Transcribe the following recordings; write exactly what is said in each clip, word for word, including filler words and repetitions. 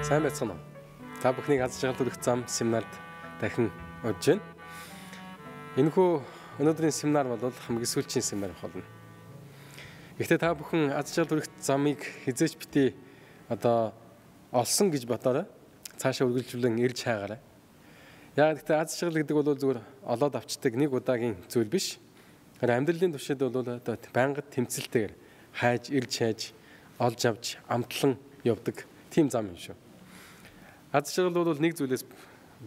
Сайн байцгаана уу? Та бүхнийг аз жаргал хүрэх зам семинарт дахин урьж байна. Энэхүү өнөөдрийн семинар бол хамгийн сүүлчийн семинар болно. Гэхдээ та бүхэн аз жаргал хүрэх замыг хизээч битий одоо олсон гэж бодоорой. Цаашаа үргэлжлүүлэн ирж хаагаарай. Яг гэхдээ аз жаргал гэдэг бол зүгээр олоод авчдаг нэг удаагийн зүйл биш. Харин амьдралын туршид бол одоо байнга тэмцэлтэйгээр хайж, ирж хайж, олж авч, амтлан явдаг тийм зам юм шүү. Аз жаргал бол нэг зүйлээс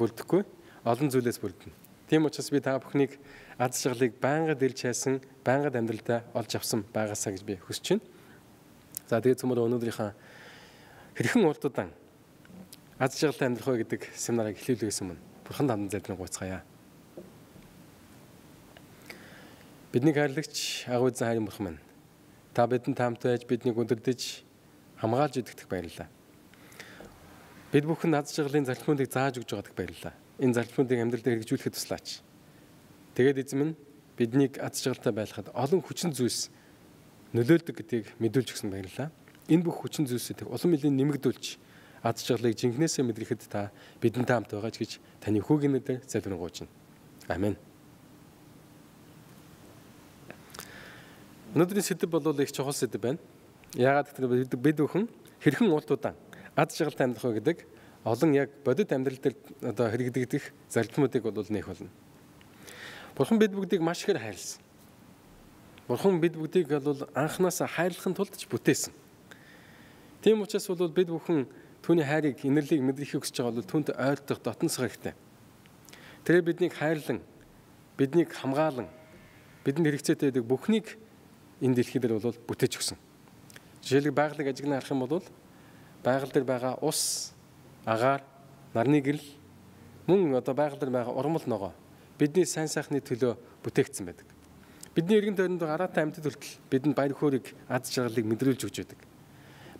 бүрдэхгүй, олон зүйлээс бүрдэнэ. Тийм учраас би та бүхнийг аз жаргалыг байнга дэрж хайсан, байнга амьдралдаа олж авсан байгаасаа гэж би хүсэж байна. За тэгээд цөмөр өнөөдрийнхээ хэрхэн урт удаан аз жаргалтай амьдрах вэ гэдэг семинарыг эхлүүлээс өмнө Бурхан тандан залбирэн гуйцгаая. Бидний хайрлагч агуу эзэн хайрын Бурхан минь, та бидэнд таамтай байж биднийг өдөрдөж хамгаалж идэгдэх баярлалаа. Бид бүхэн аз жаргалын зарчмуудыг зааж өгж байгаадах баярлалаа. Энэ зарчмуудыг амьдралд хэрэгжүүлэхэд туслаач. Тэгээд эзэн минь биднийг аз жаргалтай байлгахад олон хүчин зүйлс нөлөөлдөг гэдгийг мэдүүлж өгсөн баярлалаа. Энэ бүх хүчин зүйлсүүдийг улам нэлийн нэмэгдүүлж аз жаргалыг жинхнээсээ мэдрэхэд та бидэнтэй хамт байгаач гэж таны хүүгийн нэрээр залбирэн гуйж байна. Амен. Өнөөдрийн сэдэв бол их чухал сэдэв байна. Яагаад гэвэл бид бүхэн хэрхэн урт удаан аз жаргалтай амьдрах вэ гэдэг олон яг бодит амьдрал дээр одоо хэрэгдэгдэх зарчмуудыг бол нээх болно. Бурхан бид бүгдийг маш ихээр хайрлсан. Бурхан бид бүгдийг бол анханасаа хайрлахын тулд ч бүтээсэн. Тийм учраас бол бид бүхэн түүний хайрыг, инэрлийг мэдрэх хүсэж байгаа бол түүнд ойртох дотносох хэрэгтэй. Тэр биднийг хайрлан, биднийг хамгаалan, бидэнд хэрэгцээтэй байдаг бүхнийг энэ дэлхий дээр бол бүтээж өгсөн. Жишээлбэл байгалыг ажиглан харах юм бол байгаль дээр байгаа ус, агаар, нарны гэрэл, мөн одоо байгаль дээр байгаа урмал ногоо бидний сайн сайхны төлөө бүтээгдсэн байдаг. Бидний эргэн тойронд гараатай амьтад хүртэл бидэнд баяр хөөргийг, аз жаргалыг мэдрүүлж өгч байдаг.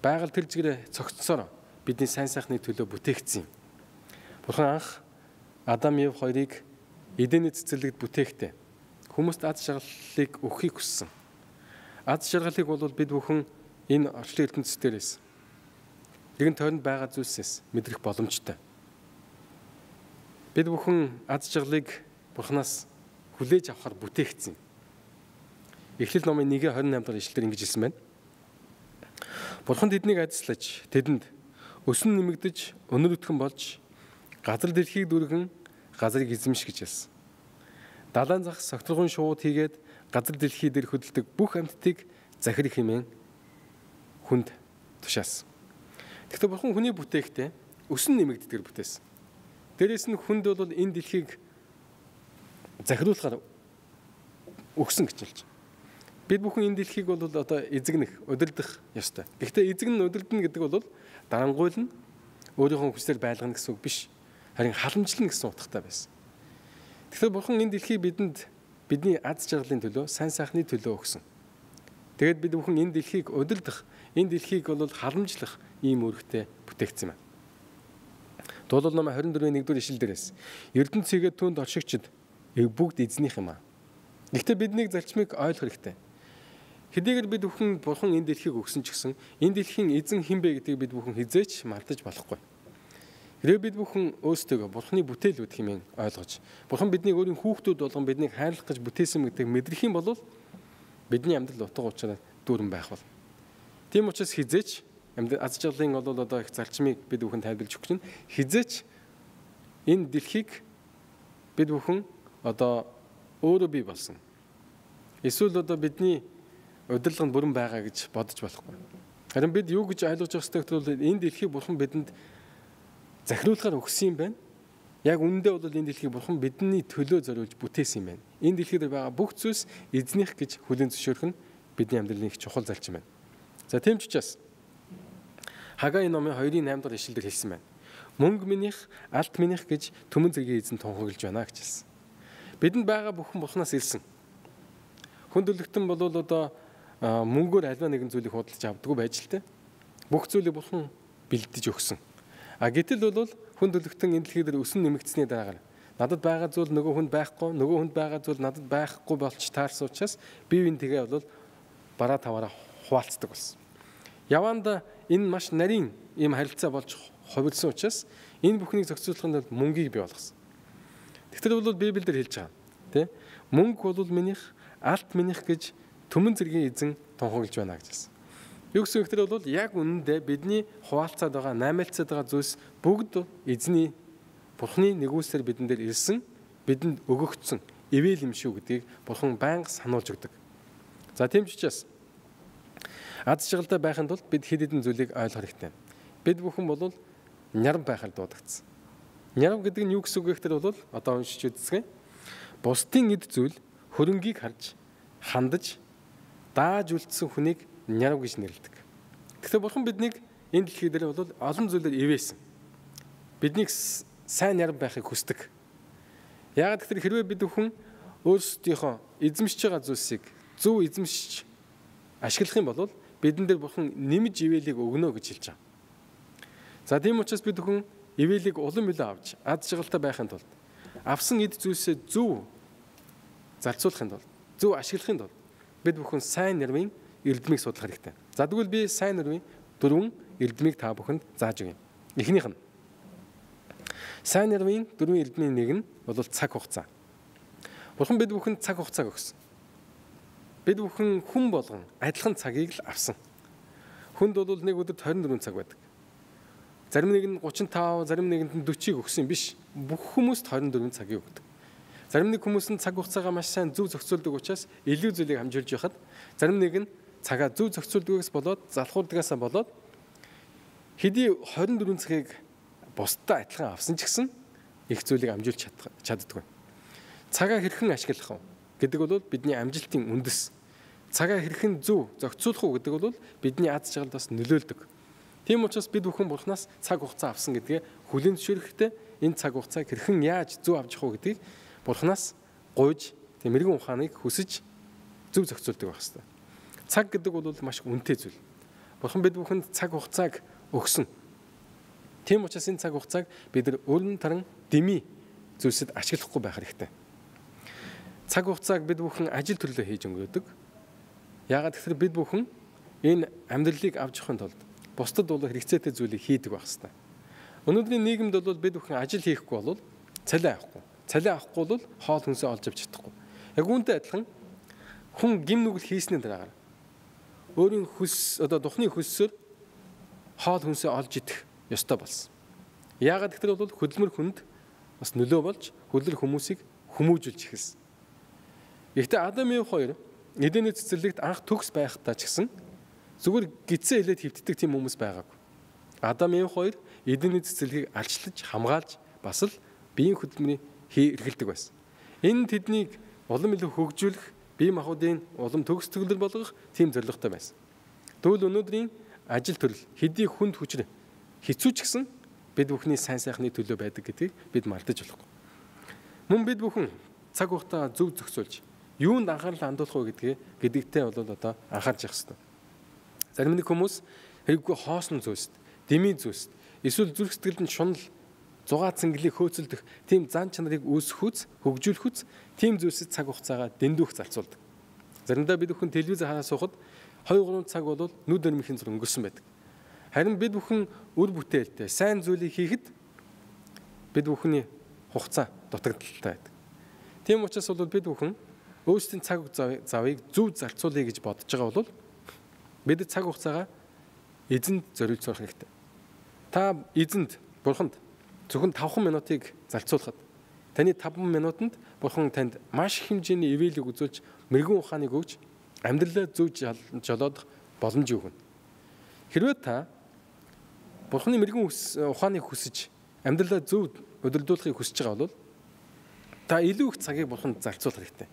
Байгаль тэр зэгрээ цогцсоор бидний сайн сайхны төлөө бүтээгдсэн юм. Бурхан анх Адам Ев хоёрыг Эдений цэцэрлэгт бүтээхдээ хүмүүст аз жаргалыг өгөхийг хүссэн. Аз жаргалыг бол бид бүхэн энэ орчлон ертөнцийн дээрээс эргэн тойронд байгаа зүйлсээс мэдрэх боломжтой. Бид бүхэн аз жаргалыг Бурханаас хүлээж авахар бүтээгдсэн. Эхлэл номын нэг двадцать восемь дахь ишлэлээр ингэж хэлсэн байна. Бурхан тэднийг адислаж, тэдэнд өсөн нэмэгдэж, өнөр өтгөн болж, газар дэлхийг дүргэн, газрыг эзэмш гэж хэлсэн. Далайн зах согтургын шууд хийгээд газар дэлхий дээр хөдөлдөг бүх амьтдыг захир хэмээн хүнд тушаасан. Гэхдээ Бурхан хүний бүтээхдээ өсөн нэмэгддгээр бүтээсэн. Дээрээс нь хүнд бол энэ дэлхийг захируулахаар өгсөн гэж хэлж байна. Бид бүхэн энэ дэлхийг бол одоо эзэгнэх, удирдах ёстой. Гэхдээ эзэгнэн удирдана гэдэг бол дарангуйлна, өөрийнхөө хүслээр байлгана гэсэн үг биш. Харин халамжлана гэсэн утгатай байсан. Тэгэхээр Бурхан энэ дэлхийг бидэнд бидний аз жаргалын төлөө, сайн сайхны төлөө өгсөн. Тэгээд бид бүхэн энэ дэлхийг удирдах, энэ дэлхийг бол халамжлах ийм үүрэгтэй бүтээгдсэн байна. Дуулал ном двадцать four-ийн нэгдүгээр ишлэл дээрээс Эрдэнэ цэгээд түүнд оршигчд бүгд эзнийх юм аа. Гэхдээ биднийг зарчмыг ойлгох хэрэгтэй. Хэдийгээр бид бүхэн Бурхан энэ дэлхийг өгсөн ч гэсэн энэ дэлхийн эзэн хэн бэ гэдгийг бид бүхэн хизээч мартаж болохгүй. Хэрвээ бид бүхэн өөрсдөө Бурханы бүтээлүүд хэмээн ойлгож, Бурхан биднийг өөрийн хүүхдүүд болгон биднийг хайрлах гэж бүтээсэн гэдгийг мэдрэх юм бол бидний амьдрал утга учираа дүүрэн байх бол. Тийм учраас хизээч аз жаргалын бол одоо их зарчмыг бид бүхэн тайлбарлаж өгч байна. Хизээч энэ дэлхийг бид бүхэн одоо өөрөө бий болсон. Эсвэл одоо бидний удирдлага нь бүрэн байгаа гэж бодож болохгүй. Харин бид юу гэж ойлгож явах ёстой гэвэл энэ дэлхийг Бурхан бидэнд захируулахаар өгсөн юм байна. Яг үүндээ бол энэ дэлхийг Бурхан бидний төлөө зориулж бүтээсэн юм байна. Энэ дэлхий дээр байгаа бүх зүйлс эзнийх гэж хүлээн зөвшөөрөх нь бидний амьдралын их чухал зарчим байна. За тийм ч учраас Хаgai номын two-ийн eight дахь ишлэлээр хэлсэн байна. Мөнгө минийх, алт минийх гэж түмэн зэргийн эзэн тунхаглаж байна гэж хэлсэн. Бидэнд байгаа бүхэн Бурханаас ирсэн. Хүндлэгтэн бол одоо мөнгөөр альва нэгэн зүйлийг худалдаж авдаггүй байж л тэ. Бүх зүйлийг Бурхан бэлдэж өгсөн. А гэтэл бол хүндлэгтэн энэ дэлхий дээр өсөн нэмэгдсэний дараагаар надад байгаа зүйл нөгөө хүнд байхгүй, нөгөө хүнд байгаа зүйл надад байхгүй болч таарсан учраас бие биен тэгээ бол бараа таваараа хуваалцдаг болсон. Яванда энэ маш нарийн ийм харилцаа болж хувирсан учраас энэ бүхнийг зохицуулахын тулд мөнгийг бий болгосон. Тэгэхээр бол Библиэлд хэлж байгаа тий мөнгө бол минийх, алт минийх гэж түмэн зэргийн эзэн тунхаглаж байна гэж хэлсэн. Юу гэсэн ихтэй бол яг үнэндээ бидний хуваалцаад байгаа, наймаалцаад байгаа зүйлс бүгд эзний Бурхны нэгүслэр бидэн дээр ирсэн, бидэнд өгөгдсөн ивэл юм шүү гэдгийг Бурхан байнга сануулж өгдөг. За тийм ч учраас аз жаргалтай байхын тулд бид хэд хэдэн зүйлийг ойлгох хэрэгтэй. Бид бүхэн бол нярав байхаар дуудагдсан. Нярав гэдэг нь юу гэсэн үг гэхээр бол одоо уншиж үзье. Бусдын эд зүйл хөрөнгийг харж, хандаж, дааж үлдсэн хүнийг нярав гэж нэрлэдэг. Тэгэхээр Бурхан биднийг энэ дэлхий дээр бол олон зүйлээр ивээсэн. Биднийг сайн нярав байхыг хүсдэг. Яагаад гэхээр хэрвээ бид бүхэн өөрсдийнхөө эзэмшиж байгаа зүйлсийг зөв эзэмшиж ашиглах юм бол бидэн дээр Бурхан нэмж ивэлийг өгнө гэж хэлж байгаа. За тийм учраас бид бүхэн ивэлийг улам илүү авч аз жаргалтай байхын тулд авсан эд зүйлсээ зөв зарцуулахын тулд зөв ашиглахын тулд бид бүхэн сайн нэрвийн эрдмийг судлах хэрэгтэй. За тэгвэл би сайн нэрвийн дөрвөн эрдмийг та бүхэнд зааж өгье. Эхнийх нь сайн нэрвийн дөрвөн эрдмийн нэг нь бол цаг хугацаа. Бурхан бид бүхэнд цаг хугацааг өгсөн. Бид бүхэн хүн болгон адилхан цагийг л авсан. Хүнд бол нэг өдөрт хорин дөрвөн цаг байдаг. Зарим нэг нь гучин тав, зарим нэгэнд нь дөрвийг өгсөн биш. Бүх хүмүүст хорин дөрвөн цагийг өгдөг. Зарим нэг хүмүүс нь цаг хугацаагаа маш сайн зөв зохицуулдаг учраас илүү зүйлийг хамжуулж яхад, зарим нэг нь цагаа зөв зохицуулдагаас болоод залхуурдагаас болоод хэдий хорин дөрвөн цагийг бусдад адилхан авсан ч гэсэн их зүйлийг амжуулж чаддаггүй. Цагаа хэрхэн ашиглах вэ гэдэг бол бидний амжилтын үндэс. Цагаа хэрхэн зөв зохицуулах уу гэдэг бол бидний аз жаргалд бас нөлөөлдөг. Тийм учраас бид бүхэн Бурханаас цаг хугацаа авсан гэдгээ хүлээн зөвшөөрөхдөө энэ цаг хугацааг хэрхэн яаж зөв авч явах уу гэдгийг Бурханаас гуйж мэрэгэн ухааныг хүсэж зөв зохицуулдаг байх хэрэгтэй. Цаг гэдэг бол маш үнэтэй зүйл. Бурхан бид бүхэнд цаг хугацааг өгсөн. Тийм учраас энэ цаг хугацааг бид нар өрн таран дэмий зүйлсэд ашиглахгүй байх хэрэгтэй. Цаг хугацааг бид бүхэн ажил төрлөө хийж өнгөрөөдөг. Яагаад гэвэл бид бүхэн энэ амьдралыг авч явахын тулд бусдад бол хэрэгцээтэй зүйлийг хийдэг байх хэрэгтэй. Өнөөдрийн нийгэмд бол бид бүхэн ажил хийхгүй бол цалин авахгүй. Цалин авахгүй бол хоол хүнсээ олж авч чадахгүй. Яг үүнтэй адилхан хүн гим нүгэл хийсний дараагаар өөрийн хүс одоо духны хөссөөр хоол хүнсээ олж идэх ёстой болсон. Яагаад гэвэл бол хөдөлмөр хүнд бас нөлөө болж хөдөлгөр хүмүүсийг хүмүүжүүлж эхэлсэн. Гэхдээ Адам Ев хоёр Эдний цэцэрлэгт анх төгс байхдаа ч гэсэн зүгээр гидсэн хэлээд хөвтдөг тийм хүмүүс байгаагүй. Адам Ев хоёр Эдний цэцэрлэгийг алчлаж, хамгаалж бас л биеийн хөдөлмөрийг эргэлдэг байсан. Энэ тэднийг улам илүү хөгжүүлэх, бие махбодын улам төгс төгөлдөр болгох тийм зорилготой байсан. Тэгвэл өнөөдрийн ажил төрөл хэдий хүнд хүчрээ хэцүү ч гэсэн бид бүхний сайн сайхны төлөө байдаг гэдгийг бид мартаж болохгүй. Мөн бид бүхэн цаг хугацаа зөв зохицуулж юунд анхаарал хандуулах вэ гэдгээ гэдэгтэй бол одоо анхаарч явах хэрэгтэй. Зарим нэг хүмүүс хэрэггүй хоосон зүйлс, дэмий зүйлс, эсвэл зүрх сэтгэлд нь шунал, зугаа цэнгэлийг хөөцөлдөх тийм зан чанарыг үүсгэх, хөгжүүлэх, тийм зүйлсэд цаг хугацаагаа дэндүүх зарцуулдаг. Заримдаа бид бүхэн телевизээр хараа суухад хоёр гурван цаг бол нүд өрмөхийн зур өнгөрсөн байдаг. Харин бид бүхэн үр бүтээлтэй сайн зүйлийг хийхэд бид бүхний хугацаа дутагдaltaй байдаг. Тийм учраас бол бид бүхэн өөрсдийн цаг завыг зөв зарцуулъя гэж бодож байгаа бол бид цаг хугацаагаа эзэнд зориулж сурах хэрэгтэй. Та эзэнд Бурханд зөвхөн тавхан минутыг зарцуулахад таны таван минутанд Бурхан танд маш их хэмжээний ивэлийг үзүүлж мэрэгэн ухааныг өгж амьдралаа зөв жолоодох боломжийг өгнө. Хэрвээ та Бурханы мэрэгэн ухааныг хүсэж амьдралаа зөв удирдуулахыг хүсэж байгаа бол та илүү их цагийг Бурханд зарцуулах хэрэгтэй.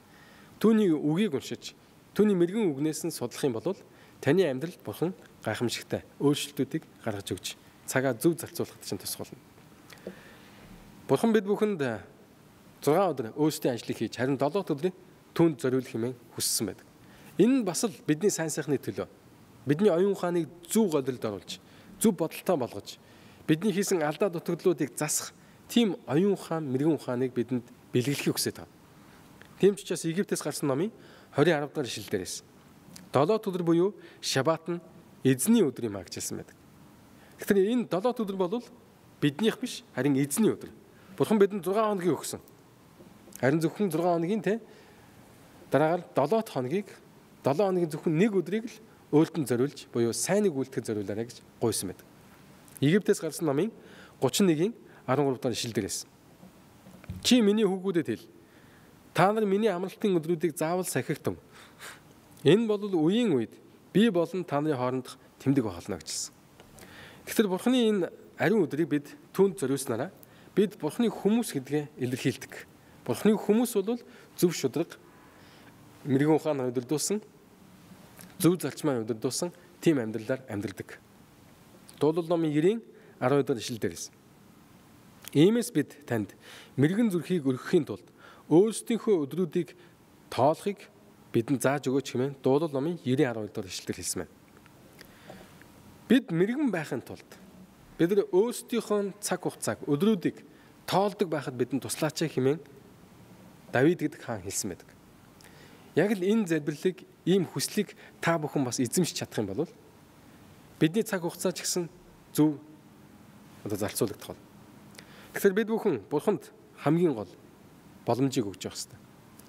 Түүний үгийг уншиж, түүний мэрэгэн үгнээс нь судлах юм бол таны амьдралд Бурхан гайхамшигтай өөрчлөлтүүдийг гаргаж өгч цагаа зөв зарцуулахад чинь тусах болно. Бурхан бид бүхэнд зургаан өдөр өөрсдийн ажлыг хийж, харин долоо өдрийн түүнд зориулах хэмээн хүссэн байдаг. Энэ бас л бидний сайн сайхны төлөө. Бидний оюун ухааныг зөв голилд оруулж, зөв бодолтой болгож, бидний хийсэн алдаа дутагдлуудыг засах тийм оюун ухаан, мэрэгэн ухааныг бидэнд бэлгэлэхийг хүсэж байна. Тийм ч учраас Египтээс гарсан номын двадцать арав дахь ишлэл дээрээс долоо өдөр буюу Шабат нь эзний өдөр юм а гэж хэлсэн байдаг. Тэгэхээр энэ долоо өдөр бол биднийх биш, харин эзний өдөр. Бурхан бидэнд зургаан хоногийг өгсөн. Харин зөвхөн зургаан хоногийн те дараагаар долоо хоногийг долоо хоногийн зөвхөн нэг өдрийг л өөртөө зориулж буюу сайныг үйлдэхэд зориулаарай гэж гуйсан байдаг. Египтээс гарсан номын гучин нэгin арван гурав дахь ишлэл дээрээс. Чи миний хүүгүүдэд хэл. Та нар миний амралтын өдрүүдийг заавал сахигтун. Энэ бол үеийн үед би болон та нарын хоорондох тэмдэг болно гэжсэн. Тэгэхээр Бурханы энэ ариун өдрийг бид түүнд зориулснараа бид Бурханы хүмүүс гэдгээ илэрхийлдэг. Бурханы хүмүүс бол зөв шударга, мэрэгэн ухаанаар өдөрдүүлсэн, зөв зарчмаар өдөрдүүлсэн тийм амьдралаар амьдардаг. Дуулал номын нine арван дахь ишлэл дээрээс. Иймээс бид танд мэрэгэн зүрхийг өргөхийн тулд өөрсдийнхөө өдрүүдийг тоолохыг бидэнд зааж өгөөч хэмээн дуулал номын nine арван дахь ишлэлээр хэлсэн байна. Бид мэрэгэн байхын тулд бид нар өөрсдийнхөө цаг хугацааг өдрүүдийг тоолдог байхад бидэнд туслаач хэмээн Давид гэдэг хаан хэлсэн байдаг. Яг л энэ залбирлыг, ийм хүслийг та бүхэн бас эзэмшиж чадах юм бол бидний цаг хугацаа ч гэсэн зөв одоо зарцуулагдах болно. Тэгэхээр бид бүхэн Бурханд хамгийн гол боломжийг өгч явах хэрэгтэй.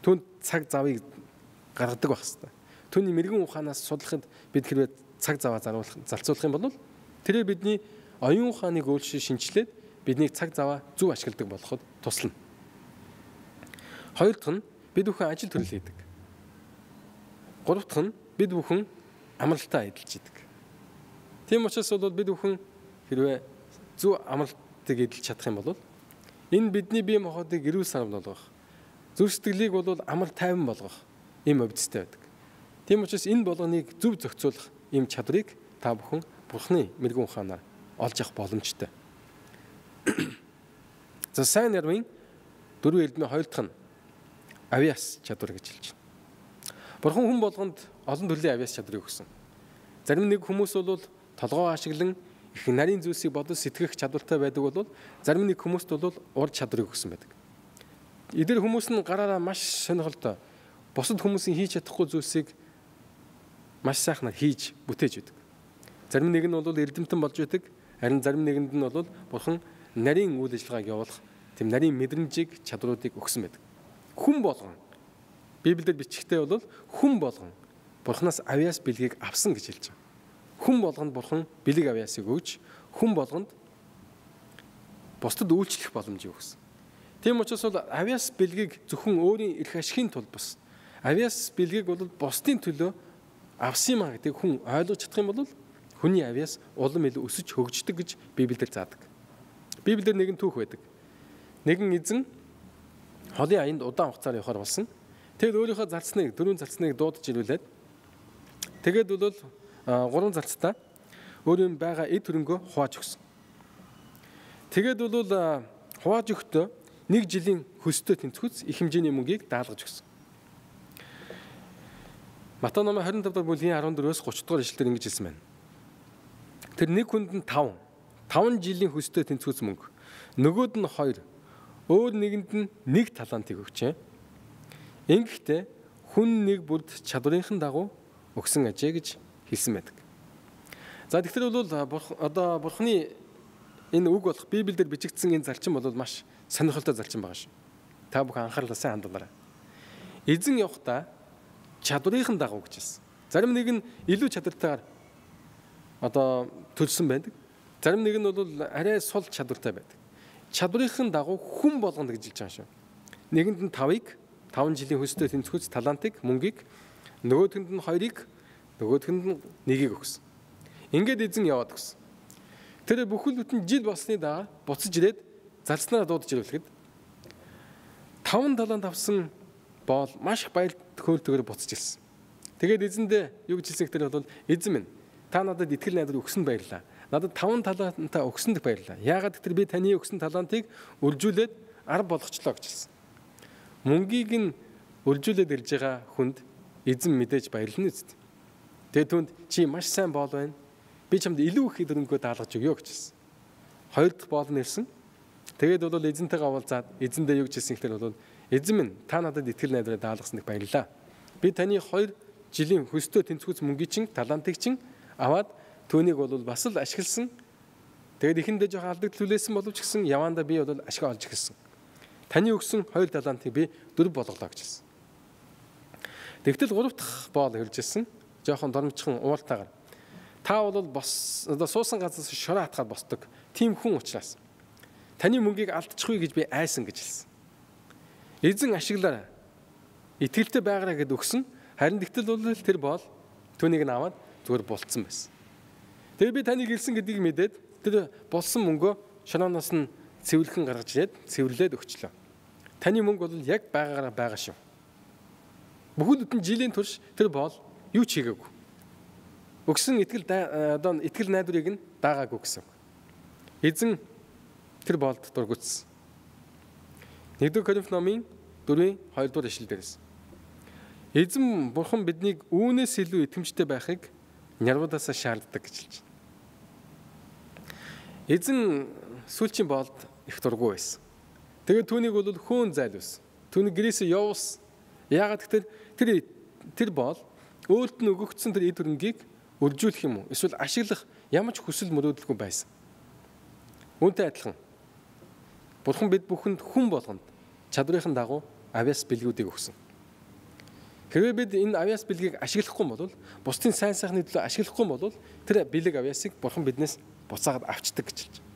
Түүнд цаг завыг гаргадаг байх хэрэгтэй. Түүний мэрэгэн ухаанаас судлахад бид хэрвээ цаг заваа заруулах, зарцуулах юм бол тэрээр бидний оюун ухааныг өөрчилж шинчлээд биднийг цаг заваа зөв ашигладаг болоход туслана. Хоёр дахь нь бид бүхэн ажил төрөл хийдэг. Гурав дахь нь бид бүхэн амралтаа эдэлж идэг. Тийм учраас бол бид бүхэн хэрвээ зөв амралтыг эдэлж чадах юм бол энэ бидний бие махбодыг эрүүл санамд болгох, зүрх сэтгэлийг бол амар тайван болгох юм өвдөстэй байдаг. Тийм учраас энэ болгоныг зөв зохицуулах ийм чадрыг та бүхэн Бурханы мэрэгэн ухаанаар олж авах боломжтой. За сайн нарийн дөрвөн элдмийн хоёр дахь нь авиас чадвар гэж хэлж байна. Бурхан хүн болгонд олон төрлийн авиас чадрыг өгсөн. Зарим нэг хүмүүс бол толгоо ашиглан их нарийн зүйлсийг бодож сэтгэх чадвартай байдаг бол зарим нэг хүмүүст бол ур чадрыг өгсөн байдаг. Эдгээр хүмүүс нь гараараа маш сонирхолтой бусад хүмүүсийн хийж чадахгүй зүйлсийг маш сайхнаар хийж бүтээж байдаг. Зарим нэг нь бол эрдэмтэн болж байдаг, харин зарим нэгэнд нь бол Бурхан нарийн үйл ажиллагааг явуулах тийм нарийн мэдрэмжийг, чадруудыг өгсөн байдаг. Хүн болгон Библиэд бичгтээ бол хүн болгон Бурханаас авиас бэлгийг авсан гэж хэлж байна. Хүн болгонд Бурхан бэлэг авиасыг өгж, хүн болгонд бусдад үйлчлэх боломжийг өгсөн. Тийм учраас бол авиас бэлгийг зөвхөн өөрийн эрх ашигын тулд бус. Авиас бэлгийг бол бусдын төлөө авсан юм а гэдэг хүн ойлгож чадах юм бол хүний авиас улам илүү өсөж хөгждөг гэж Библиэлд заадаг. Библиэлд нэгэн түүх байдаг. Нэгэн эзэн холын аянд удаан хугацаар явахаар болсон. Тэгэд өөрийнхөө зарцныг, дөрвөн зарцныг дуудаж ирүүлээд тэгээд бол гурван зарцтай өөрийн байгаа эд хөрөнгөө хувааж өгсөн. Тэгээд бол хувааж өгтөө нэг жилийн хөстэй тэнцвүүц их хэмжээний мөнгийг даалгаж өгсөн. Матай номын двадцать пять дахь бүлгийн арван дөрвөөс гурван дахь ишлэлээр ингэж хэлсэн байна. Тэр нэг хүнд нь таван, таван жилийн хөстэй тэнцвүүц мөнгө, нөгөөд нь хоёр, өөр нэгэнд нь нэг талантыг өгчээ. Ингэхдээ хүн нэг бүрд чадварынхан дагуу өгсөн ажээ гэж хэлсэн байдаг. За тэгэхээр бол одоо Бурханы энэ үг болох Библиэлд бичигдсэн энэ зарчим бол маш сонирхолтой зарчим байгаа шүү. Та бүхэн анхаарлаа сайн хандуулаарай. Эзэн явахдаа чадварынхан дагуу гэж хэлсэн. Зарим нэг нь илүү чадвартайгаар одоо төлсөн байдаг. Зарим нэг нь бол арай сул чадвартай байдаг. Чадварынхан дагуу хүн болгоно гэж хэлж байгаа шүү. Нэгэнд нь тавыг, таван жилийн хөстэй тэнцвүүц талантыг, мөнгийг, нөгөөдгөнд нь хоёрыг, нөгөөдгөнд нь нэгийг өгсөн. Ингээд эзэн яваад өгсөн. Тэр бүхэл бүтэн жил болсны дараа буцаж ирээд зарцнаараа дуудаж ирүүлэхэд таван талант авсан боол маш их баяр хөөртэйгээр буцаж ирсэн. Тэгээд эзэндээ юу гэж хэлсэн гэхээр бол эзэн минь та надад итгэл найдар өгсөнд баярлаа. Надад таван талантаа өгсөнд баярлаа. Яагаад гэвэл би таны өгсөн талантыг үржүүлээд арга болгочлоо гэж хэлсэн. Мөнгийг нь үржүүлээд ирж байгаа хүнд эзэн мэдээж баярлна үст. Тэгээд түнд чи маш сайн боол байна. Би чамд илүү их хөрөнгөө даалгаж өгье гэж хэлсэн. Хоёр дахь боол нь ирсэн. Тэгээд бол эзэнтэйгээ уулзаад эзэндээ юу гэж хэлсэн гэхээр бол эзэн минь та надад итгэл найдраа даалгасанд баярлалаа. Би таны хоёр жилийн хөстэй тэнцвүүц мөнгийг чин талантыг чин аваад түүнийг бол бас л ашигласан Тэгээд ихэндээ жоохон алдагдлүүлсэн боловч гэсэн явандаа би бол ашиг олж эхэлсэн. Таны өгсөн хоёр талантыг би дөрв болголоо гэж хэлсэн. Тэгтэл гурав дахь боол хэлжсэн. Жоохон дормжхон ууртаагаар. Та бол бос одоо суусан газраас шороо хатгаад босдог. Тийм хүн учраас таны мөнгийг алдчихгүй гэж би айсан гэж хэлсэн. Эзэн ашиглаарай. Итгэлтэй байгаарай гэд өгсөн. Харин тэгтэл бол тэр боол түүнийг нь аваад зүгээр болцсон байсан. Тэгээ би таныг хэлсэн гэдгийг мэдээд тэр болсон мөнгөө шорооноос нь цэвэрлхэн гаргаж ирээд цэвэрлээд өгчлөө. Таны мөнгө бол яг байгаагаараа байгаа шүү. Бүхэл бүтэн жилийн турш тэр боол юу ч хийгээгүй. Өгсөн итгэл одоо итгэл найдварыг нь даагаагүй гэсэн. Эзэн тэр боолд дургуутсан. нэгдүгээр Коринф номын дөрвийн хоёрдугаар ишлэл дээрээс. Эзэн бурхан биднийг үүнээс илүү итгэмжтэй байхыг нярвуудаасаа шаарддаг гэж хэлж байна. Эзэн сүүлчийн боолд их дургуй байсан. Тэгээд түүнийг бол хөөн зайлуулсан. Түүнийг гэрээсээ явуулсан. Яагаад гэвэл тэр тэр боол өөрт нь өгөгдсөн тэр эд хөрөнгийг өржүүлэх юм уу? Эсвэл ашиглах ямар ч хүсэл мөрөөдөлгүй байсан. Үүнтэй адилхан Бурхан бид бүхэнд хүн болгонд чадрынхаа дагуу авяас бэлгүүдийг өгсөн. Хэрвээ бид энэ авяас бэлгийг ашиглахгүй бол бусдын сайн сайхны төлөө ашиглахгүй бол тэр бэлэг авяасыг Бурхан биднээс буцаагаад авчдаг гэж хэлж байна.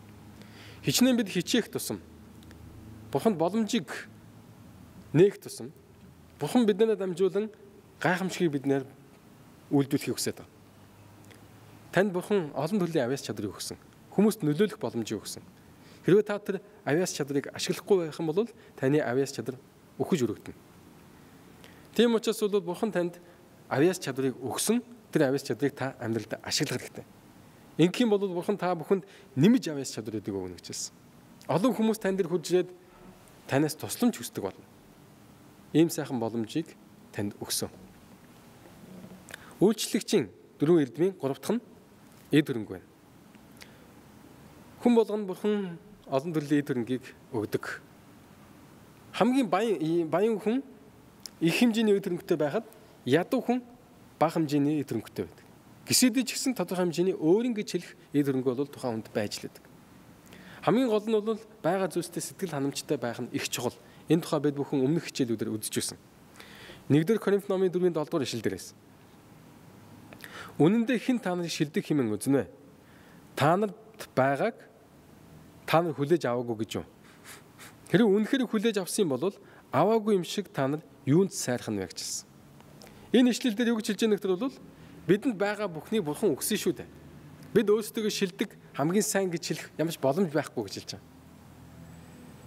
Хичнээн бид хичээх тусам Бурханд боломжийг нээх тусам Бурхан биднээс дамжуулан гайхамшигыг биднээр үйлдвэрлэхийг хүсэж байна. Танд Бурхан олон төрлийн авяас чадрыг өгсөн. Хүмүүст нөлөөлөх боломжийг өгсөн. Хэрвээ та тэр авяас чадрыг ашиглахгүй байх юм бол таны авяас чадар өхөж өргөдөнө. Тийм учраас бол Бурхан танд авяас чадрыг өгсөн. Тэр авяас чадрыг та амьдралд ашиглах хэрэгтэй. Ингэх юм бол Бурхан та бүхэнд нэмж авяас чадруудыг өгнө гэж хэлсэн. Олон хүмүүс тань дээр хурж ирээд танаас тусламж хүсдэг болно. Ийм сайхан боломжийг танд өгсөн. Үйлчлэгчийн дөрвөн эрдмийн гурав дахь нь эд хөрөнгө байна. Хүн болгонд Бурхан олон төрлийн эд хөрөнгийг өгдөг. Хамгийн баян баян хүн их хэмжээний эд хөрөнгөтэй байхад ядуу хүн бага хэмжээний эд хөрөнгөтэй байдаг. Гисэдэ ч гэсэн тодорхой хэмжээний өөрийн гэж хэлэх эд хөрөнгө бол тухайн хүнд байж лээдэг. Хамгийн гол нь бол байгаа зүйлстэй сэтгэл ханамжтай байх нь их чухал. Энэ тухай бид бүхэн өмнөх хичээлүүдээр үзэж байсан. нэгдүгээр Коринф номын дөрвийн долоо дугаар ишлэл дээрээс. Үнэн дээр хэн та нарыг шилдэг хэмээн үзнэ вэ? Та нарт байгааг та нар хүлээж аваагүй гэж юу? Хэрэг үнэхээр хүлээж авсан юм бол аваагүй юм шиг та нар юунд сайрах нь вэ гэж хэлсэн. Энэ ишлэл дээр юу гэж хэлж байгаа нөхөр бол бидэнд байгаа бүхнийг Бурхан өгсөн шүү дээ. Бид өөрсдөө шилдэг хамгийн сайн гэж хэлэх ямар ч боломж байхгүй гэж хэлж байгаа.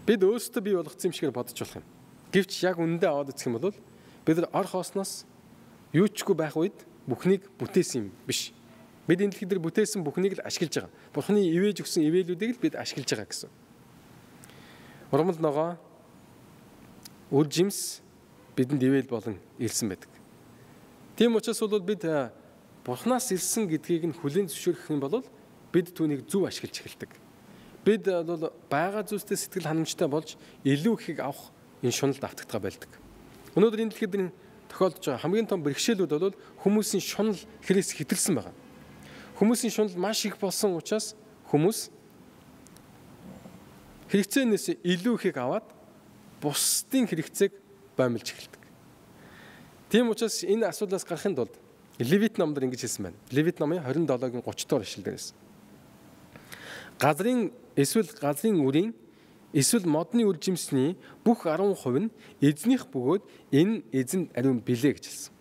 Бид өөрсдөө бий болгоцсон юм шигээр бодож болох юм. Гэвч яг үнэндээ аваад үзэх юм бол бид нар ор хоосноос юу чгүй байх үед бүхнийг бүтээсэн юм биш. Бид энэ дэлхий дээр бүтээсэн бүхнийг л ашиглаж байгаа. Бурханы ивэж өгсөн ивэлүүдийг л бид ашиглаж байгаа гэсэн. Урмал ногоо үр жимс бидэнд ивэл болон илсэн байдаг. Тийм учраас бол бид Бурханаас илсэн гэдгийг нь хүлээн зөвшөөрөх юм бол бид түүнийг зөв ашиглаж эхэлдэг. Бид бол байгаа зүйлстэй сэтгэл ханамжтай болж илүү ихийг авах энэ шуналд автагдгаа байлдаг. Өнөөдөр энэ дэлхийд тохиолдож байгаа хамгийн том бэрхшээлүүд бол хүмүүсийн шунал хэрэгс хэтэрсэн байгаа. Хүмүүсийн шунал маш их болсон учраас хүмүүс хэрэгцээнээс илүү ихийг аваад бусдын хэрэгцээг боомлж эхэлдэг. Тийм учраас энэ асуудлаас гарахын тулд Левит номдэр ингэж хэлсэн байна. Левит номын двадцать seven-гийн thirty дугаар ишлэл дээрээс. Газрын эсвэл газрын үрийн эсвэл модны үр жимсний бүх ten percent нь эзнийх бөгөөд энэ эзэнд ариун билээ гэж хэлсэн.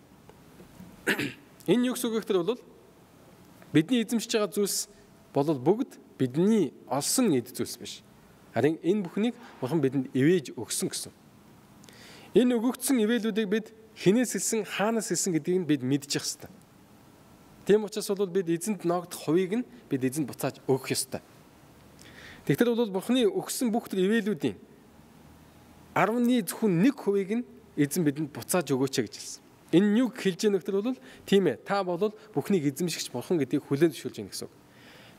Энэ юу гэсэн үг гэхээр бол бидний эзэмшиж байгаа зүйлс бол бүгд бидний олсон эд зүйлс биш. Харин энэ бүхнийг Бурхан бидэнд ивэж өгсөн гэсэн. Энэ өгөгдсөн ивэлүүдийг бид хинээс хэлсэн, хаанаас хэлсэн гэдгийг бид мэдчих ёстой. Тийм учраас бол бид эзэнд ногдох хувийг нь бид эзэнд буцааж өгөх ёстой. Тэгэхээр бол Бурханы өгсөн бүх төр ивэлүүдийн ten зөвхөн one хувийг нь эзэн бидэнд буцааж өгөөч гэж хэлсэн. Энэ юу хэлж яах вэ гэхээр бол тийм ээ, та бол бүхнийг эзэмшигч Бурхан гэдгийг хүлээн зөвшөөрж байна гэсэн үг.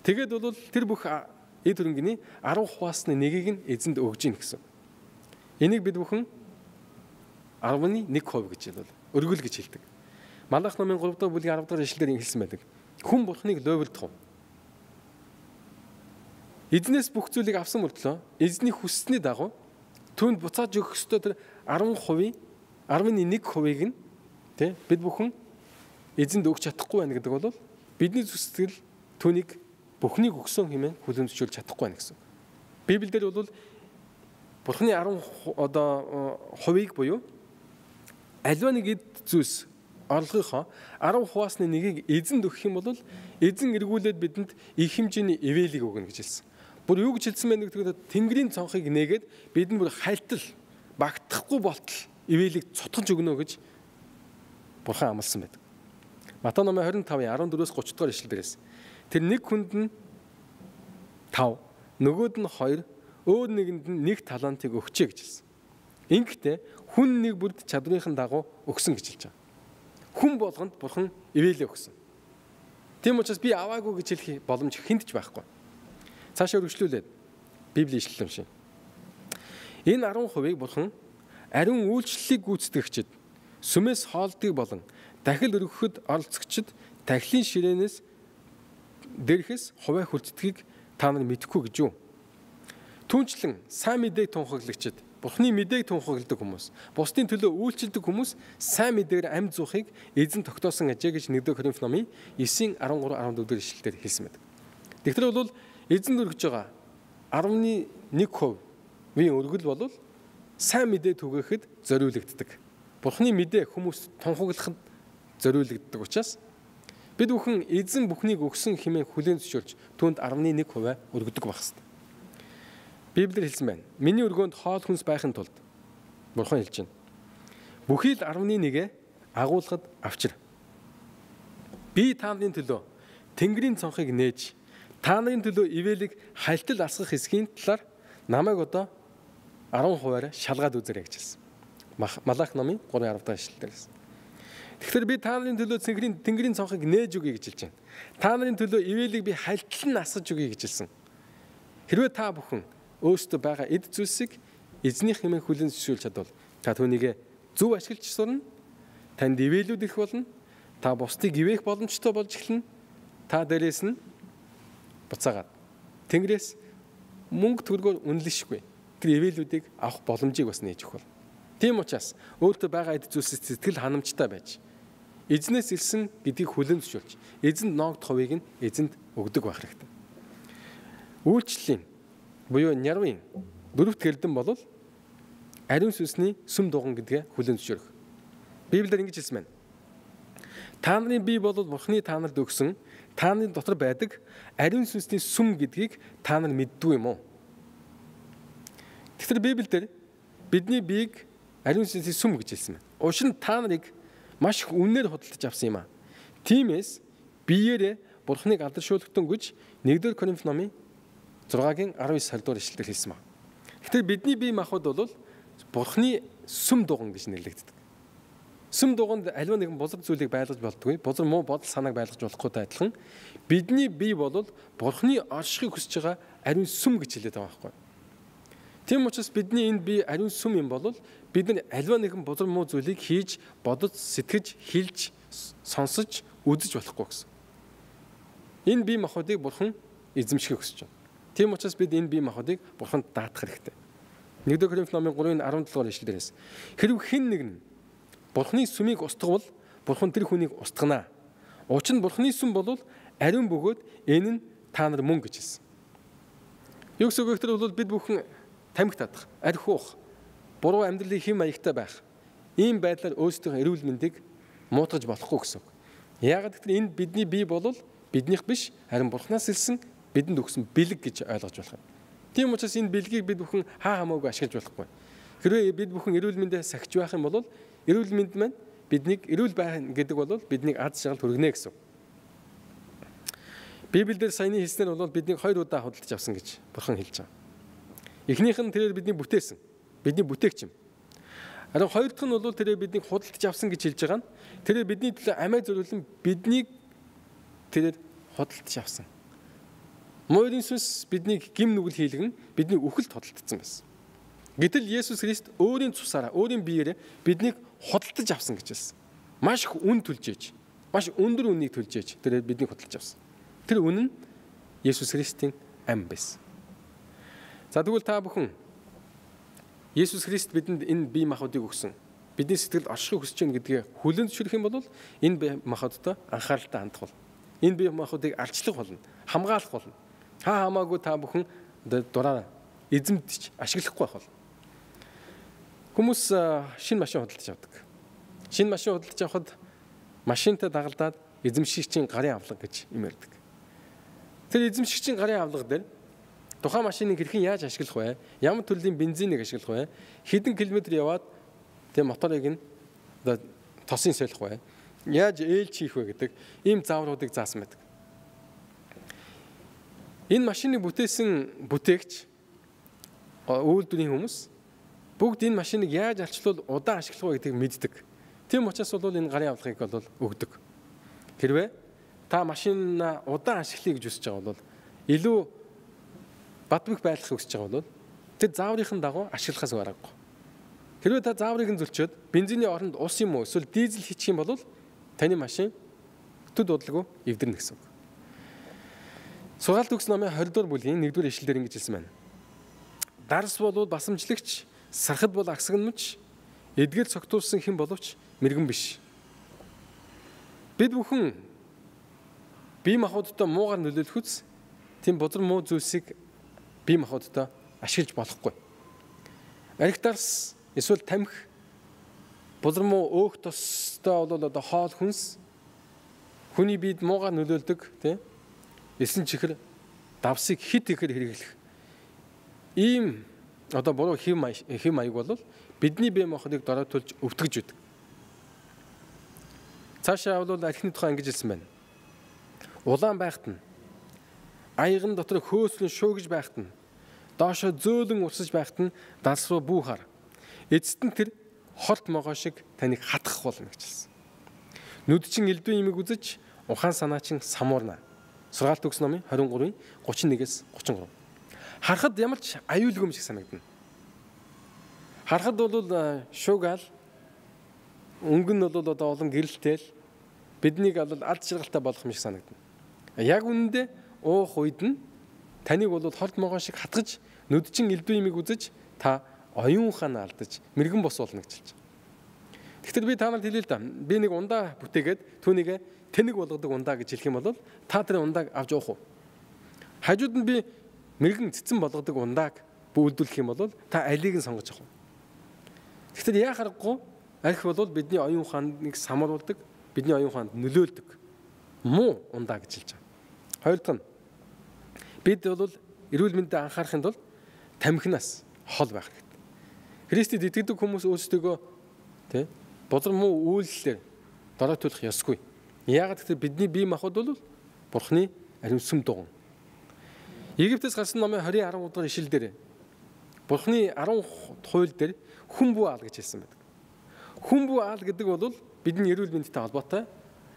Тэгээд бол тэр бүх эд хөрөнгөний ten хуваасны нэгийг нь эзэнд өгж гин гэсэн. Энийг бид бүхэн ten one хувь гэж бол өргөл гэж хэлдэг. Малах номын three дахь бүлгийн ten дахь ишлэлээр хэлсэн байдаг. Хүн Бурханыг лойвлдох уу? Эзнээс бүх зүйлийг авсан мөртлөө эзний хүссний дагуу түүнд буцааж өгөх ёстой тэр арван хувийн арван нэг хувийг нь тий бид бүхэн эзэнд өгч чадахгүй байна гэдэг бол бидний зүсгэл түүнийг бүхнийг өгсөн хэмээн хүлэмжшүүлж чадахгүй байна гэсэн. Библиэлд бол Бурхны арван одоо хувийг буюу аливаа нэг эд зүйлс орлогынхоо арван хуваасны нэгийг эзэнд өгөх юм бол эзэн эргүүлээд бидэнд их хэмжээний ивэлийг өгнө гэж хэлсэн. Бүр юу гэж хэлсэн бэ гэдэг нь Тэнгэрийн цонхыг нээгээд бидэнд бүр хайлтал багтахгүй болтол ивэлийг цутгаж өгнө гэж Бурхан амласан байдаг. Матай номын двадцать five арван fourээс thirty дугаар ишлэлдээс тэр нэг хүнд нь five, нөгөөд нь two, өөр нэгэнд нь one талантыг өгчээ гэж хэлсэн. Ингэхдээ хүн нэг бүрд чадрынхын дагуу өгсөн гэж хэлж байгаа. Хүн болгонд Бурхан ивэлээ өгсөн. Тийм учраас би аваагүй гэж хэлэх боломж хүнд ч байхгүй. Цаашаа үргэлжлүүлээд Библийн ишлэл уншия. Энэ ten хувийг Бурхан ариун үйлчлэлийг гүйцэтгэгчид, сүмээс хоолдгийг болон дахил өргөхөд оролцогчид тахилын ширээнээс дээрхээс хуваа хүлцдгийг та нар мэдэхгүй гэж юу? Түүнчлэн сайн мэдээг тунхаглагчид, Бурхны мэдээг тунхагладаг хүмүүс, бусдын төлөө үйлчилдэг хүмүүс сайн мэдээгээр амьд зуухыг эзэн тогтоосон ажээ гэж нэгдүгээр Коринф номын nine thirteen fourteen дэх ишлэлээр хэлсэн байдаг. Тэгэхээр бол эзэнд өргөж байгаа eleven хувийн өргөл бол сайн мэдээ түгээхэд зориулагддаг. Бурхны мэдээ хүмүүст тунхаглахад зориулагддаг учраас бид бүхэн эзэн бүхнийг өгсөн хэмээн хүлээн зөвшөөрч түүнд eleven хувиа өргөдөг байх ёстой. Библиэр хэлсэн байна. Миний өргөөнд хоол хүнс байхын тулд Бурхан хэлж байна. Бүхий л eleven агуулгад авчир. Би та нарын төлөө Тэнгэрийн цонхыг нээж та нарын төлөө ивэлийг хайлтал асгах хэсгийн талаар намайг одоо ten хувиар шалгаад үзээрэй гэж хэлсэн. Малах номын three ten дахь ишлэлдээс. Тэгэхээр би та нарын төлөө Тэнгэрийн Тэнгэрийн цонхыг нээж өгье гэж хэлж байна. Та нарын төлөө ивэлийг би хайлтал нь асгаж өгье гэж хэлсэн. Хэрвээ та бүхэн өөрсдөө байгаа эд зүйлсийг эзнийх хэмээн хүлээн зөвшөөрч чадвал та түүнийг зөв ашиглаж сурна. Танд ивэлүүд ирэх болно. Та бусдыг ивэх боломжтой болж эхэлнэ. Та дээрээс нь буцаагаад Тэнгэрээс мөнгө төгрөгөөр үнэлшгүй тэр ивэлүүдийг авах боломжийг бас нээж өгөх бол. Тийм учраас өөртөө байгаа эд зүйлсээс сэтгэл ханамжтай байж эзнээс ирсэн гэдгийг хүлээн зөвшөөрч эзэнд ноогдох хувийг нь эзэнд өгдөг байх хэрэгтэй. Үйлчлэлийн буюу нярвын дөрөвт гэрдэн бол ариун сүнсний сүм дуган гэдгээ хүлээн зөвшөөрөх. Библиэр ингэж хэлсэн байна. Та нарын бие бол Бурхны та нарт өгсөн та нарын дотор байдаг ариун сүнсний сүм гэдгийг та нар мэддгүй юм уу? Тэгэхээр Библиэр бидний биеийг ариун сүнсний сүм гэж хэлсэн байна. Учир нь та нарыг маш их үнээр худалдаж авсан юм аа. Тиймээс биеэрээ Бурхныг алдаршуулгатан гэж нэгдүгээр Коринф номын six-гийн nineteen дугаар ишлэлээр хэлсэн байна. Тэгэхээр бидний бие махбод бол Бурхны сүм дуган гэж нэрлэгддэг. Сүм дуганд аливаа нэгэн бузар зүйлийг байлгаж болдгүй, бузар муу бодол санааг байлгаж болохгүй адилхан бидний бие бол Бурхны оршихыг хүсэж байгаа ариун сүм гэж хэлээд байгаа байхгүй. Тийм учраас бидний энэ бие ариун сүм юм бол бид нар аливаа нэгэн бузар муу зүйлийг хийж, бодож, сэтгэж, хэлж, сонсож, үзэж болохгүй гэсэн. Энэ бие махбодыг Бурхан эзэмшихийг хүсэж байна. Тийм учраас бид энэ бие махбодыг Бурханд даатах хэрэгтэй. нэгдүгээр Коринф номын three seventeen дугаар ишлэлээс хэрв хэн нэг нь Бурхны сүмийг устгавал Бурхан тэр хүнийг устгана. Учир нь Бурхны сүм бол ариун бөгөөд энэ нь та нар мөн гэж хэлсэн. Юу гэсэн үг вэ? Бол бид бүхэн тамхи татах, арх уух, буруу амьдралын хэм маягтай байх. Ийм байдлаар өөрсдөө эрүүл мэндийг муутгаж болохгүй гэсэн үг. Яагаад гэвэл энэ бидний бие бол биднийх биш, харин Бурханаас ирсэн бидэнд өгсөн бэлэг гэж ойлгож болох юм. Тийм учраас энэ бэлгийг бид бүхэн хаа хамаагүй ашиглаж болохгүй. Хэрвээ бид бүхэн эрүүл мэндээ сахиж байх юм бол эрүүл мэнд маань биднийг эрүүл байх гэдэг бол биднийг аз жаргал хүргэнэ гэсэн. Библиэлд саяны хэлснээр бол биднийг хоёр удаа худалдаж авсан гэж Бурхан хэлж байгаа. Эхнийх нь тэрээр бидний бүтээсэн, бидний бүтээгч юм. Харин хоёр дахь нь бол тэрээр биднийг худалдаж авсан гэж хэлж байгаа нь тэрээр бидний төлөө амиа зориулсан биднийг тэрээр худалдаж авсан. Морин сүнс биднийг гим нүгэл хийлгэн бидний үхэлд худалдсан байсан. Гэтэл Есүс Христ өөрийн цусаараа, өөрийн биеэрээ биднийг худалдаж авсан гэж хэлсэн. Маш их үн төлж ээж, маш өндөр үнийг төлж ээж тэрээр биднийг худалдаж авсан. Тэр үн нь Есүс Христийн ам байсан. За тэгвэл та бүхэн Есүс Христ бидэнд энэ бие махбодыг өгсөн. Бидний сэтгэлд оршихыг хүсэж байна гэдгээ хүлээн зөвшөөрөх юм бол энэ бие махбодтой анхааралтай хандах бол энэ бие махбодыг алчлах болно, хамгаалах болно. Хаа хамаагүй та бүхэн дураараа эзэмдэж ашиглахгүй байх бол. Хүмүүс шинэ машин худалдаж авдаг. Шинэ машин худалдаж авахад машинтай дагалдаад эзэмшигчийн гарын авлага гэж юм ярьдаг. Тэр эзэмшигчийн гарын авлага дээр тухайн машиныг хэрхэн яаж ашиглах вэ? Ямар төрлийн бензинийг ашиглах вэ? Хэдэн километр яваад тэр моторыг нь тосын солих вэ? Яаж ээлж хийх вэ гэдэг ийм заавруудыг заасан байдаг. Энэ машиныг бүтээсэн бүтээгч үйлдвэрийн хүмүүс бүгд энэ машиныг яаж алчлуул удаан ашиглах вэ гэдгийг мэддэг. Тийм учраас бол энэ гарын авлагыг бол өгдөг. Хэрвээ та машинаа удаан ашиглахыг гэж хүсэж байгаа бол илүү бадбих байлгахыг хүсэж байгаа бол тэр зааврын дагуу ашиглахаас гарахгүй. Хэрвээ та зааврыг нь зөлчөөд бензиний оронд ус юм уу эсвэл дизель хийчих юм бол таны машин төд удалгүй эвдэрнэ гэсэн үг. Сургаалт өгс номын двадцать дугаар бүлгийн нэгдүгээр ишлэлээр ингэж хэлсэн байна. Дарс бол басамжлагч, сархад бол агсагнамж, эдгээр цогтуулсан хэн боловч мэрэгэн биш. Бид бүхэн бие махбодтой муугар нөлөөлөх үс тийм бузар муу зүйлсийг бие махбодтой ашиглаж болохгүй. Арх дарс эсвэл тамхи бузар муу өөх тостой бол одоо хоол хүнс хүний биед муугар нөлөөлдөг тийм эсэн чихэр давсыг хит ихээр хэрэглэх ийм одоо буруу хэв хэв маяг бол бидний бие махбодыг дороотуулж өвтгөж байдаг. Цаашаа бол архины тухай ингэж хэлсэн байна. Улаан байхад нь аяган дотор хөөслөн шуугиж байхад нь доошо зөөлөн урсаж байхад нь далс руу бүү хар. Эцэст нь тэр холт могоо шиг таныг хатгах болно гэж хэлсэн. Нүд чин элдвэ имийг үзэж ухаан санаа чин самуурна. Сургаалт өгс номын двадцать гурав тридцать нэгээс тридцать гурав. Харахад ямар ч аюулгүй юм шиг санагдана. Харахад бол шуугаал өнгө нь бол одоо олон гэрэлтэл биднийг бол алд жаргалтай болох юм шиг санагдана. Яг үнэндээ уух үед нь таныг бол холт могоо шиг хатгаж нүд чин элдвэ имийг үзэж та оюун ухаанаа алдаж мэрэгэн бос болно гэж хэлж байгаа. Тэгэхээр би та нарт хэлээ л да. Би нэг ундаа бүтээгээд түүнийг тэнэг болгодог ундаа гэж хэлэх юм бол та тэр ундааг авч уух уу? Хажууд нь би мэрэгэн цэцэн болгодог ундааг бүүлдүүлэх юм бол та алийг нь сонгож авах уу? Тэгэхээр яа харахгүй арх бол бидний оюун ухааныг самруулдаг, бидний оюун ухаанд нөлөөлдөг муу ундаа гэж хэлж байгаа. Хоёр дахь нь бид бол эрүүл мэндэд анхаарахын тулд тамхинаас хол байх хэрэгтэй. Христэд итгэдэг хүмүүс өөрсдөө тий бузар муу үйлслэр дороотуулах ёсгүй. Яагаад гэвэл бидний бие махбод бол Бурхны ариун сүм дуган. Египтээс гарсан номын двадцать арав дугаар ишлэл дээр Бурхны арван хууль дээр хүн бүү аал гэж хэлсэн байдаг. Хүн бүү аал гэдэг бол бидний эрүүл мэндтэй холбоотой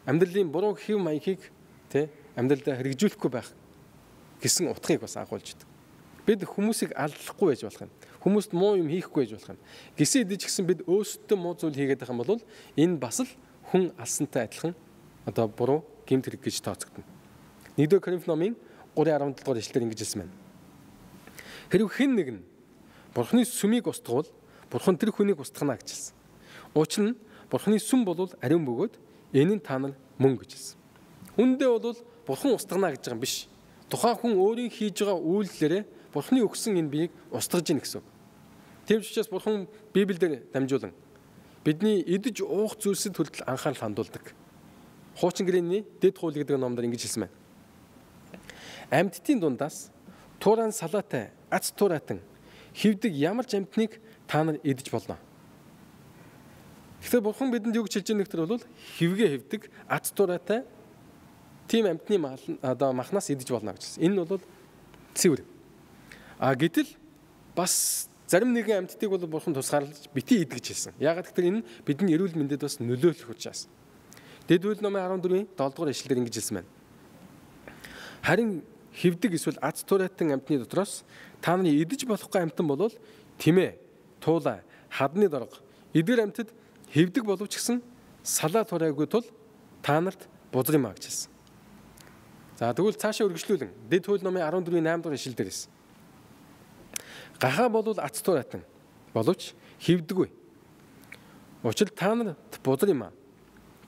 амьдралын буруу хэв маягийг тий амьдралдаа хэрэгжүүлэхгүй байх гэсэн утгыг бас агуулж байдаг. Бид хүмүүсийг алдлахгүй байж болох юм. Хүмүүст муу юм хийхгүй байж болох юм. Гисэн идэж гисэн бид өөрсдөө муу зүйл хийгээд байгаа юм бол энэ бас л хүн алсантай адилхан одоо буруу гэмт хэрэг гэж тооцогдно. нэгдүгээр Коринф номын три арван долоо дугаар ишлэлээр ингэж хэлсэн байна. Хэрв хэн нэг нь Бурхны сүмийг устгавал Бурхан тэр хүнийг устгана гэж хэлсэн. Учир нь Бурхны сүм бол ариун бөгөөд энэ нь та нар мөн гэж хэлсэн. Үндэ бол Бурхан устгана гэж байгаа юм биш. Тухайн хүн өөрийн хийж байгаа үйлдэлээрээ Бурхны өгсөн энэ биеийг устгаж ийн гэсэн үг. Тийм ч учраас Бурхан Библиэлд дамжуулан бидний идэж уух зүйлсэд хүртэл анхаарал хандуулдаг. Хуучин гэрээний дэд хууль гэдэг номдор ингэж хэлсэн байна. Амьтдын дундаас туурайн салаатай, ац туурайтан хивдэг ямар ч амьтныг та нар идэж болно. Тэгэхээр Бурхан бидэнд юу гэж хэлж байгаа нөхөр бол хивгээ хивдэг, ац туурайтай тийм амьтны одоо махнаас идэж болно гэж хэлсэн. Энэ бол цэвэр. А гэтэл бас зарим нэгэн амьтдыг бол Бурхан тусгаарлаж бити ид гэж хэлсэн. Яагаад гэвэл энэ бидний эрүүл мэндэд бас нөлөөлөх учраас. Дэд хууль номын арван дөрвийн долоо дугаар ишлэлээр ингэж хэлсэн байна. Харин хивдэг эсвэл ац туурайтан амьтны дотроос та нарын идэж болохгүй амьтан бол тэмээ, туулай, хадны дорго, эдгээр амьтад хивдэг боловч гэсэн салаа турайгүй тул та нарт бузар юм а гэж хэлсэн. За тэгвэл цаашаа үргэлжлүүлэн дэд хууль номын арван дөрвийн найм дугаар ишлэл дээрээс. Гахаа бол ац туурайтан боловч хивдэггүй. Учир та нарт бузар юм аа.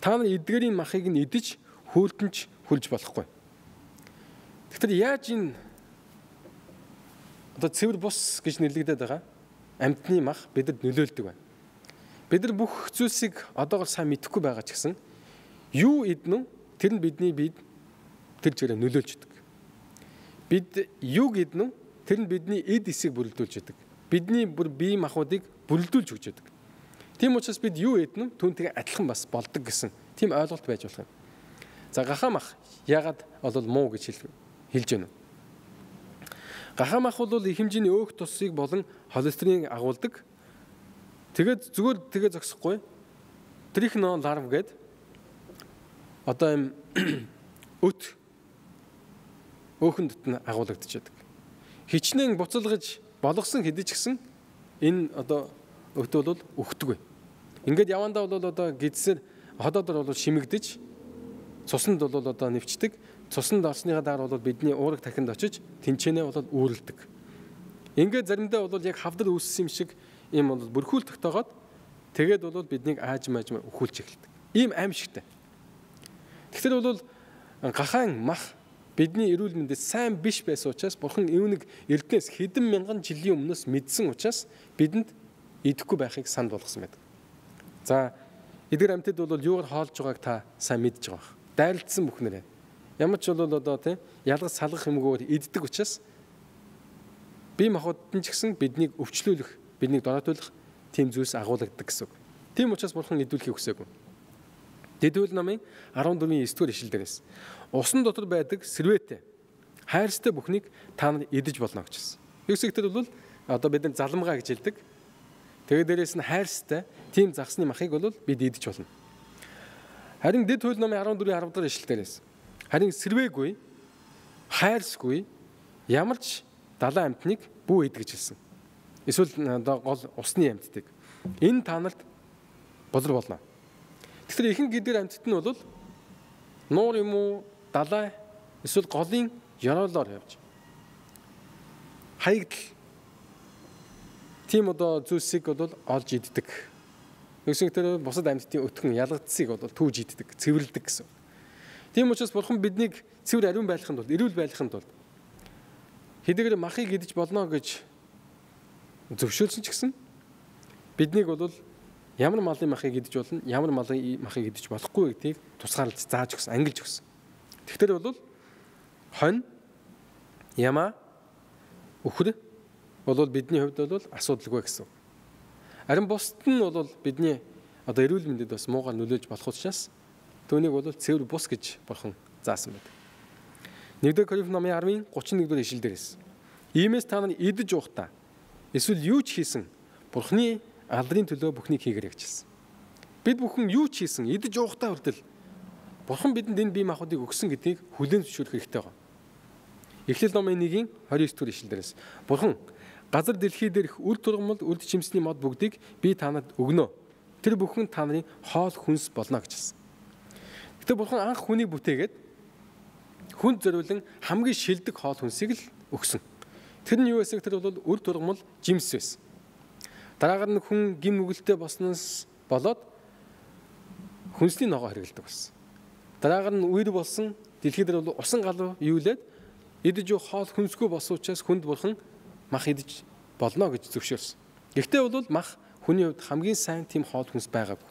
Та нар эдгэрийн махыг нь идэж хөөлтөнч хүлж болохгүй. Тэгэхээр яаж энэ одоо цэвэр бус гэж нэрлэгдээд байгаа амьтны мах бидэд нөлөөлдөг байна. Бид нар бүх зүйлсийг одоогор сайн мэдэхгүй байгаа ч гэсэн юу иднэ вэ? Тэр нь бидний биед тэр зэрэг нөлөөлждөг. Бид юу иднэ вэ? Тэр нь бидний эд эсийг бүрэлдүүлж яадаг. Бидний бүр бие махбодыг бүрэлдүүлж өгч яадаг. Тийм учраас бид юу иднэ вэ? Түүнтэйгээ адилхан бас болдог гэсэн тийм ойлголт байж болох юм. За гахаа мах яагаад бол муу гэж хэлж байна вэ? Гахаа мах бол их хэмжээний өөх тусыг болон холестериныг агуулдаг. Тэгээд зүгээр тэгээ зогсохгүй. Трихно ларв гээд одоо юм өт өөхөн дотн агуулгадчихдаг. Хичнээн буцалгаж болгосон хэдий ч гэсэн энэ одоо өт бол өгдөг. Ингээд явандаа бол одоо гидсээр ходоодор бол шимэгдэж цуснд бол одоо нэвчдэг. Цуснд орсныхаа дараа бол бидний уурах тархинд очиж тэнцэнэ бол үүрэлдэг. Ингээд заримдаа бол яг хавдар үүссэн юм шиг ийм бол бүрхүүл тогтоогоод тэгээд бол биднийг ааж мааж өхүүлж эхэлдэг. Ийм аимшигтай. Тэгэхээр бол гахаан мах бидний эрүүл мэндэд сайн биш байсан учраас Бурхан үүнийг эрдэнэс хэдэн мянган жилийн өмнөөс мэдсэн учраас бидэнд идэхгүй байхыг санд болгосон байдаг. За эдгээр амьтад бол юугаар хоолж байгааг та сайн мэдж байгаа. Дайралтсан бүхнэрээ. Ямар ч бол одоо тийм ялгаж салгах юмгоор иддэг учраас бие махбодд нь ч гэсэн биднийг өвчлүүлэх, биднийг дороотуулах тийм зүйлс агуулдаг гэсэн үг. Тийм учраас Бурхан идүүлэхийг хүсээгүй. Дэдүүл намын арван дөрвийн эсдүгээр ишлэл дээрээс усан дотор байдаг сэрвээтэй хайрстай бүхнийг та нар идэж болно гэж хэлсэн. Юусэгтэр бол одоо бид нар заламгаа гэж хэлдэг. Тэгээд дээрээс нь хайрстай тийм загсны махыг бол бид идэж болно. Харин дэд хууль намын арван дөрвийн арав дахь ишлэл дээрээс харин сэрвээгүй, хайрсгүй ямар ч далайн амьтныг бүү идэ гэж хэлсэн. Эсвэл гол усны амьтдыг. Энэ та нарт бузар болно. Тэгэхээр ихэнх гидэр амьтд нь бол нуур юм уу, далай эсвэл голын ёроолоор явж хаягдл тийм одоо зүйлсийг бол олж иддэг. Юусэгтэр бусад амьтдын өтгөн ялгагдсыг бол түүж иддэг, цэвэрлдэг гэсэн. Тийм учраас Бурхан биднийг цэвэр ариун байлгахын тулд, эрүүл байлгахын тулд хэдийгээр махыг идэж болно гэж зөвшөөрсөн ч гэсэн биднийг бол ямар малын махыг идэж болно, ямар малын махыг идэж болохгүй гэдгийг тусгаарлаж зааж өгсөн, ангилж өгсөн. Тэгэхээр бол хонь, ямаа, үхэр бол бидний хувьд бол асуудалгүй гэсэн. Харин бусд нь бол бидний одоо эрүүл мэндэд бас муугаар нөлөөлж болох учраас түүнийг бол цэвэр бус гэж Бурхан заасан байдаг. нэгдүгээр Коринф номын арвын гучин нэгдүгээр ишлэл дээрээс иймээс та нар идэж уухтаа эсвэл юу ч хийсэн Бурханы алдрын төлөө бүхнийг хийгэрэй гэж хэлсэн. Бид бүхэн юу ч хийсэн идэж уухтаа хүртэл Бурхан бидэнд энэ бие махбодыг өгсөн гэдгийг хүлээн зөвшөөрөх хэрэгтэй байна. Эхлэл номын нэгin двадцать дэх ишлэл дээрээс Бурхан газар дэлхий дээрх үр тургамал үрд чимсний мод бүгдийг би та нарт өгнө. Тэр бүхэн та нарын хоол хүнс болно гэж хэлсэн. Гэтэ Бурхан анх хүнийг бүтээгээд хүнд зориулан хамгийн шилдэг хоол хүнсийг л өгсөн. Тэр нь юу байсан гэхээр бол үр тургамал жимс байсан. Дараагаар нь хүн гим нүгэлтэй болсноос болоод хүнсний ногоо хэрэглэдэг болсон. Дараагаар нь үер болсон дэлхий дээр бол усан галуу юулээд идэж юу хоол хүнсгүй болсон учраас хүнд Бурхан мах идэж болно гэж зөвшөөрсөн. Гэхдээ бол мах хүний хувьд хамгийн сайн тийм хоол хүнс байгаагүй.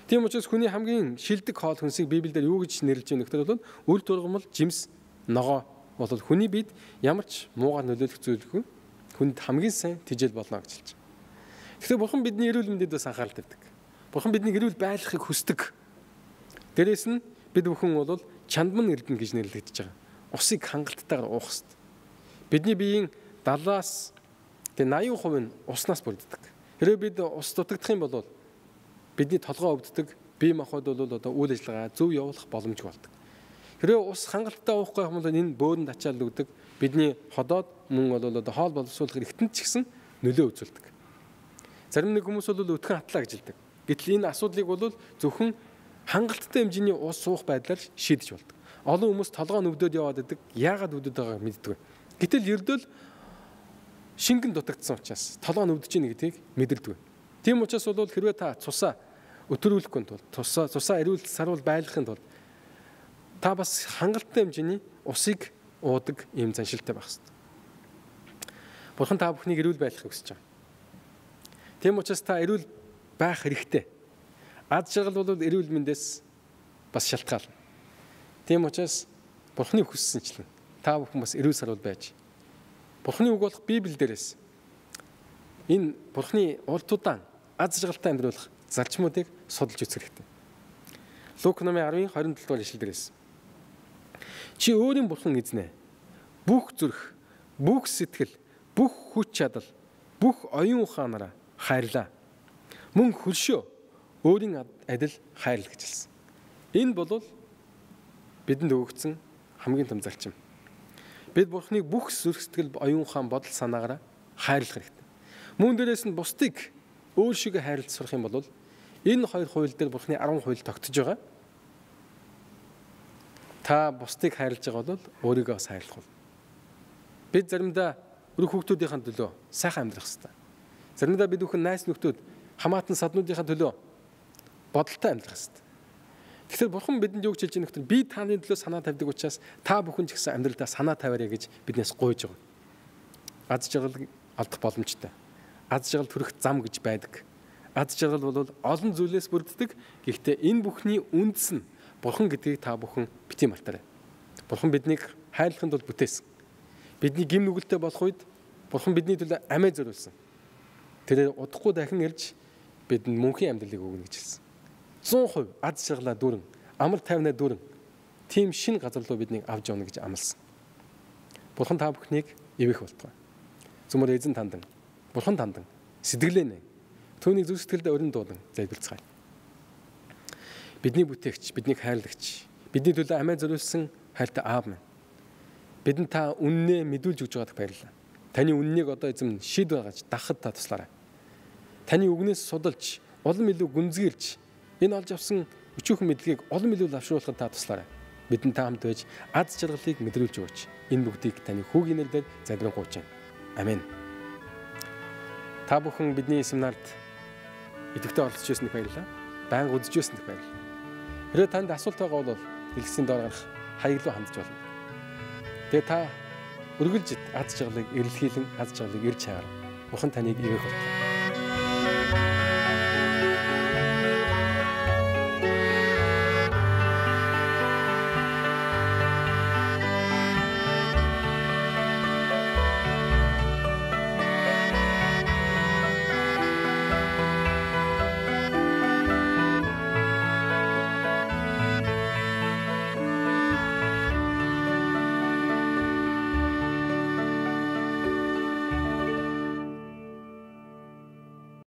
Тийм учраас хүний хамгийн шилдэг хоол хүнсийг Библиэлд юу гэж нэрлэж байна гэхээр бол үр тургамал жимс ногоо бол хүний биед ямар ч муугаар нөлөөлөх зүйлгүй хүнд хамгийн сайн тижэл болно гэж хэлж байна. Тэгэхээр Бурхан бидний эрүүл мэндэд бас анхаарал тавьдаг. Бурхан бидний эрүүл байхыг хүсдэг. Дээрээс нь бид бүхэн бол чандман эрдэнэ гэж нэрлэгдэж байгаа. Усыг хангалттайгаар уух хэрэгтэй. Бидний биеийн даалаас тэгээ восемь хувь нь уснаас бүрддэг. Хэрэв бид ус дутагдах юм бол бидний толгой өвддөг, бие махбод бол одоо үйл ажиллагаа зөв явуулах боломжгүй болдог. Хэрэв ус хангалттай уухгүй юм бол энэ бөөрөнд ачаал өгдөг, бидний ходоод мөн бол одоо хоол боловсруулах эргэнтэн ч гэсэн нөлөө үзүүлдэг. Зарим нэг хүмүүс бол өтгөн хатлаа гэж хэлдэг. Гэтэл энэ асуудлыг бол зөвхөн хангалттай хэмжээний ус суух байдлаар шийдэж болдог. Олон хүмүүс толгой нь өвдөд яваад байдаг. Яагаад өвдөд байгааг мэддэг. Гэтэл ердөө шингэн дутагдсан учраас толгой нь өвдөж ийн гэдгийг мэдэрдэг. Тийм учраас бол хэрвээ та цусаа өтрүүлэхгүй тул цусаа цусаа эрүүл сарвал байлгахын тулд та бас хангалттай хэмжээний усыг уудаг ийм заншилтай байх хэрэгтэй. Бурхан та бүхнийг эрүүл байлгахыг хүсэж байгаа. Тийм учраас та эрүүл байх хэрэгтэй. Ад жаргал бол эрүүл мэндээс бас шалтгаална. Тийм учраас Бурханы хүссэнчлэн та бүхэн бас эрүүл сарвал байж Бурханы үг болох Библи дээрээс энэ Бурханы урт удаан аз жаргалтай амьдруулах зарчмуудыг судалж үзэх хэрэгтэй. Лук номын десны двадцать семь дугаар ишлэл дээрээс чи өөрийн Бурхан эзнэ. Бүх зүрх, бүх сэтгэл, бүх хүч чадал, бүх оюун ухаанаараа хайрлаа. Мөн хөлшөө өөрийн адил хайрл гэж хэлсэн. Энэ бол бидэнд өгөгдсөн хамгийн том зарчим. Бид Бурханыг бүх зүрх сэтгэл, оюун ухаан, бодол санаагаараа хайрлах хэрэгтэй. Мөн дээрээс нь бусдыг өөр шигээ хайрлаж сурах юм бол энэ хоёр хууль дээр Бурханы арван хууль тогтож байгаа. Та бусдыг хайрлаж байгаа бол өөрийгөө бас хайрлах бол. Бид заримдаа өрх хүүхдүүдийн төлөө сайхан амьдрах хэрэгтэй. Заримдаа бид бүхэн найз нөхдүүд хамаатан саднуудын төлөө бодолтой амьдрах хэрэгтэй. Тэгэхээр Бурхан бидэнд юу гэж хэлж байгаа нөхөр би таны төлөө санаа тавьдаг учраас та бүхэн ч гэсэн амьдралдаа санаа тавиарай гэж биднээс гуйж байгаа. Аз жаргал алдах боломжтой. Аз жаргал төрөх зам гэж байдаг. Аз жаргал бол олон зүйлээс бүрддэг. Гэхдээ энэ бүхний үндэс нь Бурхан гэдгийг та бүхэн бити мартаарай. Бурхан биднийг хайрлахын тулд бүтээсэн. Бидний гим нүгэлтэй болох үед Бурхан бидний төлөө амиа зориулсан. Тэр удахгүй дахин ирж бидэнд мөнхийн амьдралыг өгнө гэж хэлсэн. цээн хувь аз жаргалаа дүүрэн, амар тайвнаа дүүрэн тийм шин газар руу биднийг авч явна гэж амласан. Бурхан та бүхнийг ивэх болтугай. Зүмөр эзэн тандан, Бурхан тандан сэтгэлээ түүнийг зүрх сэтгэлдээ өрн дуулан залбирцгаая. Бидний бүтээгч, биднийг хайрлагч, бидний төлөө амиа зориулсан хайртай аав минь. Бидэнд та үннээ мэдүүлж өгж байгааг баярлалаа. Таны үннийг одоо эзэм шийд байгаж дахад та туслаарай. Таны үгнээс судалж, улам илүү гүнзгийлж, энэ олж авсан өчүүхэн мэдлэгийг олон илүү лавшруулахад та туслаарай. Бидэнд та хамт байж аз жаргалыг мэдрүүлж өгөөч. Энэ бүгдийг таны хүүгийн нэрээр залбирanгуйч байна. Амен. Та бүхэн бидний семинарт идэвхтэй оролцож байсныг баярлалаа. Байнга үзэж байсныг баярлалаа. Хэрвээ танд асуулт байгаа бол дэлгэцийн доор гарах хаяг руу хандж болно. Тэгээ та үргэлж аз жаргалыг эрэлхийлэн аз жаргалыг ирж чагаар. Бурхан таныг ивэх болтугай.